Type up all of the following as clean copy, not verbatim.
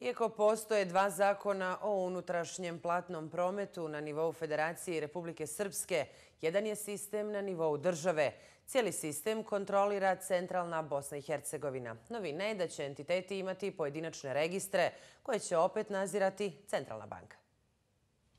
Iako postoje dva zakona o unutrašnjem platnom prometu na nivou Federacije i Republike Srpske, jedan je sistem na nivou države. Cijeli sistem kontrolira centralna Bosna i Hercegovina. Novina je da će entiteti imati pojedinačne registre koje će opet nadzirati Centralna banka.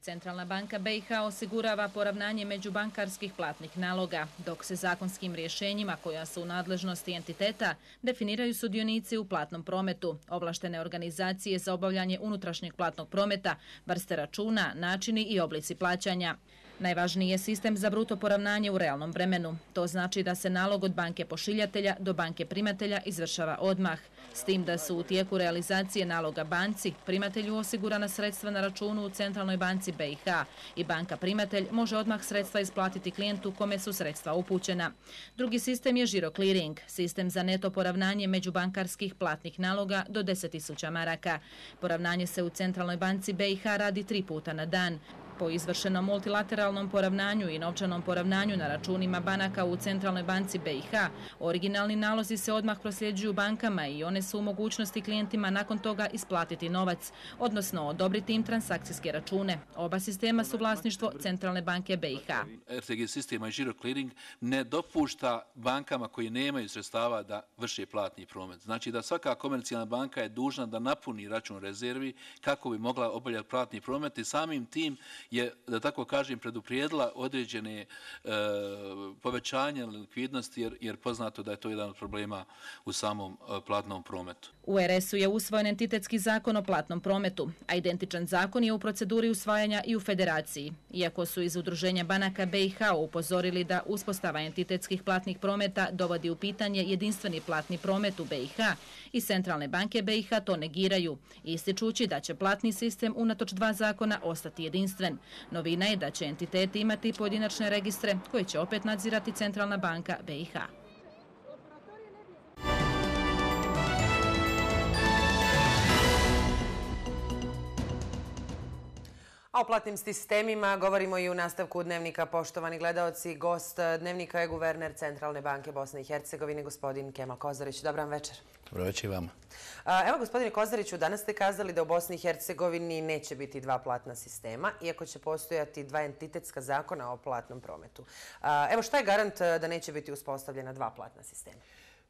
Centralna banka BiH osigurava poravnanje međubankarskih platnih naloga, dok se zakonskim rješenjima koja su u nadležnosti entiteta definiraju sudionici u platnom prometu, ovlaštene organizacije za obavljanje unutrašnjeg platnog prometa, vrste računa, načini i oblici plaćanja. Najvažniji je sistem za bruto poravnanje u realnom vremenu. To znači da se nalog od banke pošiljatelja do banke primatelja izvršava odmah, s tim da su u tijeku realizacije naloga banci primatelju osigurana sredstva na računu u Centralnoj banci BiH i banka primatelj može odmah sredstva isplatiti klijentu kome su sredstva upućena. Drugi sistem je žiro clearing, sistem za neto poravnanje međubankarskih platnih naloga do 10.000 maraka. Poravnanje se u Centralnoj banci BiH radi 3 puta na dan. Po izvršenom multilateralnom poravnanju i novčanom poravnanju na računima banaka u Centralnoj banci BiH, originalni nalozi se odmah prosljeđuju bankama i one su u mogućnosti klijentima nakon toga isplatiti novac, odnosno odobriti im transakcijske račune. Oba sistema su vlasništvo Centralne banke BiH. RTG sistema i žiro clearing ne dopušta bankama koji nemaju sredstava da vrše platni promet. Znači da svaka komercijalna banka je dužna da napuni račun rezervi kako bi mogla obavljati platni promet i samim tim je, da tako kažem, preduprijedila određene povećanje likvidnosti jer poznato da je to jedan od problema u samom platnom prometu. U RS-u je usvojen entitetski zakon o platnom prometu, a identičan zakon je u proceduri usvajanja i u Federaciji. Iako su iz Udruženja banaka BiH upozorili da uspostava entitetskih platnih prometa dovodi u pitanje jedinstveni platni promet u BiH i Centralne banke BiH to negiraju, ističući da će platni sistem unatoč dva zakona ostati jedinstven. Novina je da će entiteti imati pojedinačne registre koje će opet nadzirati Centralna banka BiH. A o platnim sistemima govorimo i u nastavku dnevnika. Poštovani gledaoci, gost dnevnika je guverner Centralne banke Bosne i Hercegovine, gospodin Kemal Kozarić. Dobar vam večer. Dobro večer i vama. Evo, gospodine Kozariću, danas ste kazali da u Bosni i Hercegovini neće biti dva platna sistema, iako će postojati dva entitetska zakona o platnom prometu. Evo, šta je garant da neće biti uspostavljena dva platna sistema?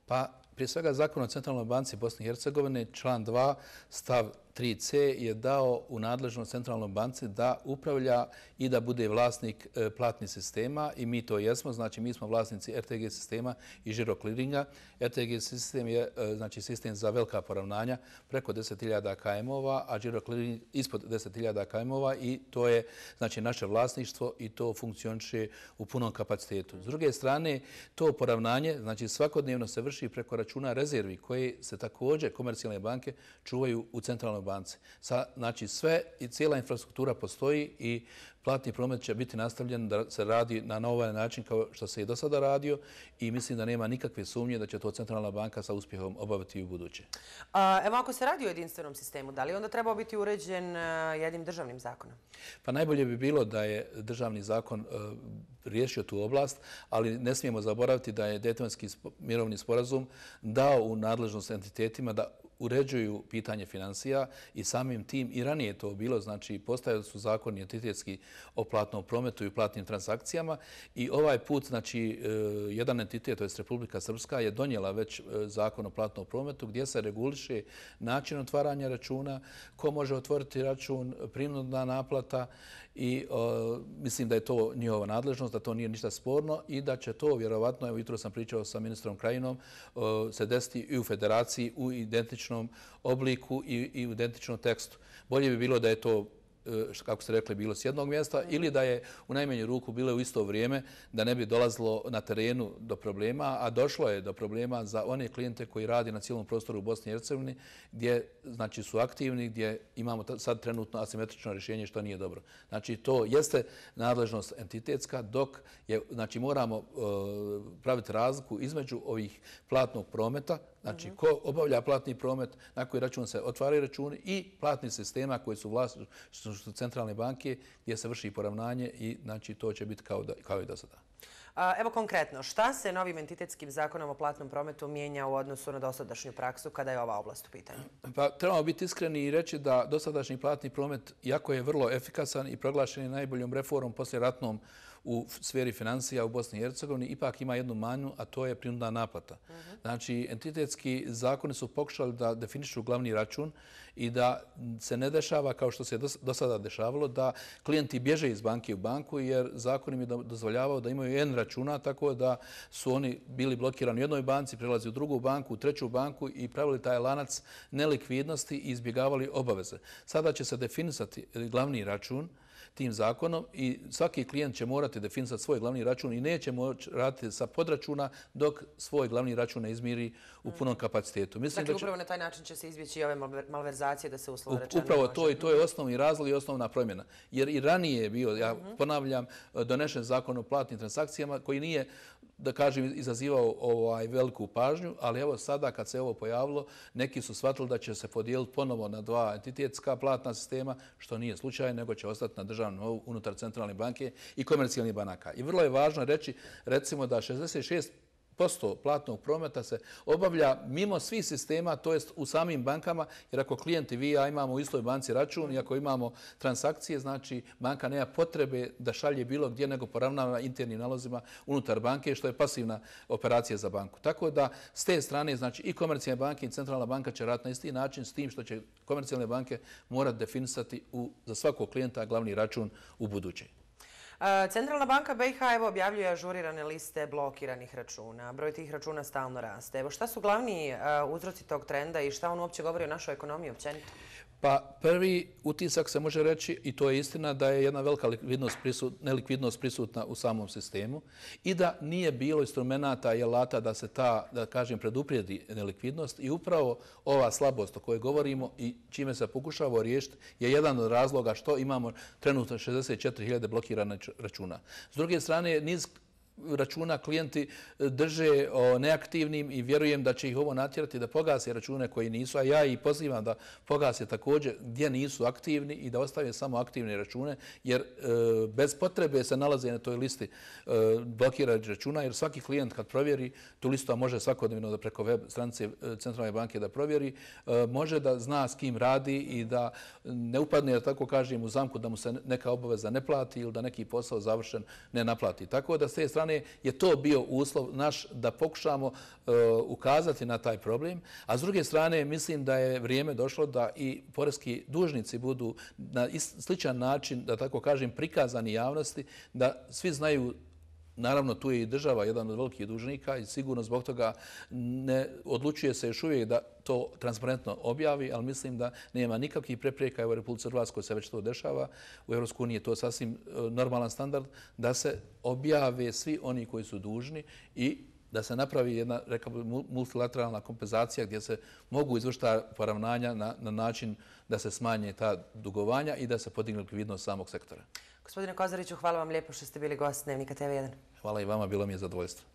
Pa, prije svega Zakon o Centralnoj banci Bosne i Hercegovine, član 2, stav 3c je dao u nadležnost Centralnoj banci da upravlja i da bude vlasnik platnih sistema i mi to jesmo, znači mi smo vlasnici RTG sistema i žiro clearinga. RTG sistem je znači sistem za velika poravnanja preko 10.000 km-ova, a žiro clearing ispod 10.000 km-ova i to je znači naše vlasništvo i to funkcioniše u punom kapacitetu. S druge strane, to poravnanje znači svakodnevno se vrši preko računa rezervi koje se također komercijalne banke čuvaju u Centralnoj banci. Znači sve i cijela infrastruktura postoji i platni promet će biti nastavljen da se radi na ovaj način kao što se i do sada radio i mislim da nema nikakve sumnje da će to Centralna banka sa uspjehom obaviti i u buduće. Evo, ako se radi o jedinstvenom sistemu, da li onda trebao biti uređen jednim državnim zakonom? Pa najbolje bi bilo da je državni zakon riješio tu oblast, ali ne smijemo zaboraviti da je Dejtonski mirovni sporazum dao u nadležnost entitetima da uređuju pitanje financija i samim tim i ranije je to bilo, znači postojali su zakoni entitetski o platnom prometu i platnim transakcijama i ovaj put, znači, jedan entitet, to je Republika Srpska, je donijela već zakon o platnom prometu gdje se reguliše način otvaranja računa, ko može otvoriti račun, prinudna naplata i mislim da je to njihova nadležnost, da to nije ništa sporno i da će to vjerovatno, evo jutro sam pričao sa ministrom Krajinom, se desiti i u Federaciji u identičnom obliku i u identičnom tekstu. Bolje bi bilo da je to, kako ste rekli, bilo s jednog mjesta ili da je u najmanju ruku bilo u isto vrijeme da ne bi dolazilo na terenu do problema, a došlo je do problema za one klijente koji radi na cijelom prostoru u Bosni i Hercegovini gdje znači, su aktivni, gdje imamo sad trenutno asimetrično rješenje što nije dobro. Znači to jeste nadležnost entitetska dok je, znači moramo praviti razliku između ovih platnog prometa, znači ko obavlja platni promet, na koji račun se otvaraju računi i platnih sistema koji su vlasništvo Centralne banke gdje se vrši poravnanje i znači to će biti kao i do sada. Evo konkretno, šta se novim entitetskim zakonom o platnom prometu mijenja u odnosu na dosadašnju praksu kada je ova oblast u pitanju? Pa trebamo biti iskreni i reći da dosadašnji platni promet, iako je vrlo efikasan i proglašen je najboljom reformom posljeratnom u sferi financija u Bosni i Hercegovini, ipak ima jednu manu, a to je prinudna naplata. Znači, entitetski zakoni su pokušali da definišu glavni račun i da se ne dešava, kao što se do sada dešavalo, da klijenti bježe iz banke u banku, jer zakon im je dozvoljavao da imaju jedan računa, tako da su oni bili blokirani u jednoj banci, prelazi u drugu banku, u treću banku i pravili taj lanac nelikvidnosti i izbjegavali obaveze. Sada će se definisati glavni račun tim zakonom i svaki klijent će morati definisati svoj glavni račun i neće moći raditi sa podračuna dok svoj glavni račun ne izmiri u punom kapacitetu. Dakle, upravo na taj način će se izbjeći i ove malverzacije da se uslovno rečeno može. Upravo to i to je osnovni razlog i osnovna promjena. Jer i ranije je bio, ja ponavljam, donešen zakon o platnim transakcijama koji nije, da kažem, izazivao veliku pažnju, ali evo sada kad se ovo pojavilo, neki su shvatili da će se podijeliti ponovo na dva entitetska platna sistema, što nije slučaj, nego će ostati na državnom nivou unutar centralne banke i komercijalnih banaka. I vrlo je važno reći, recimo, da 66% platnog prometa se obavlja mimo svih sistema, to jest u samim bankama, jer ako klijenti vi i ja imamo u istoj banci račun i ako imamo transakcije, znači banka nema potrebe da šalje bilo gdje nego poravnava internim nalozima unutar banke, što je pasivna operacija za banku. Tako da s te strane, znači i komercijalne banke i centralna banka će raditi na isti način, s tim što će komercijalne banke morati definisati za svakog klijenta glavni račun u buduće. Centralna banka BiH objavljuje ažurirane liste blokiranih računa. Broj tih računa stalno raste. Evo, šta su glavni uzroci tog trenda i šta on uopće govori o našoj ekonomiji općenito? Pa prvi utisak se može reći, i to je istina, da je jedna velika nelikvidnost prisutna u samom sistemu i da nije bilo instrumenta i alata da se ta, da kažem, preduprijedi nelikvidnost i upravo ova slabost o kojoj govorimo i čime se pokušava riješiti je jedan od razloga što imamo trenutno 64.000 blokiranih računa. S druge strane, niz računa klijenti drže neaktivnim i vjerujem da će ih ovo natjerati da pogase račune koji nisu, a ja ih pozivam da pogase također gdje nisu aktivni i da ostave samo aktivne račune, jer bez potrebe se nalaze na toj listi blokiranih računa, jer svaki klijent kad provjeri tu listu, a može svakodnevno da preko web stranice Centralne banke da provjeri, može da zna s kim radi i da ne upadne, da tako kažem, u zamku da mu se neka obaveza ne plati ili da neki posao završen ne naplati. Tako da s te strane je to bio uslov naš da pokušamo ukazati na taj problem, a s druge strane mislim da je vrijeme došlo da i poreski dužnici budu na sličan način, da tako kažem, prikazani javnosti, da svi znaju. Naravno, tu je i država jedan od velikih dužnika i sigurno zbog toga ne odlučuje se još uvijek da to transparentno objavi, ali mislim da nema nikakvih prepreka. Evo, u Republici Hrvatskoj se već to dešava. U EU je to sasvim normalan standard da se objave svi oni koji su dužni i da se napravi jedna, rekao bih, multilateralna kompenzacija gdje se mogu izvršiti poravnanja na način da se smanje ta dugovanja i da se podigne likvidnost samog sektora. Gospodine Kozariću, hvala vam lijepo što ste bili gost Dnevnika TV1. Hvala i vama, bilo mi je zadovoljstvo.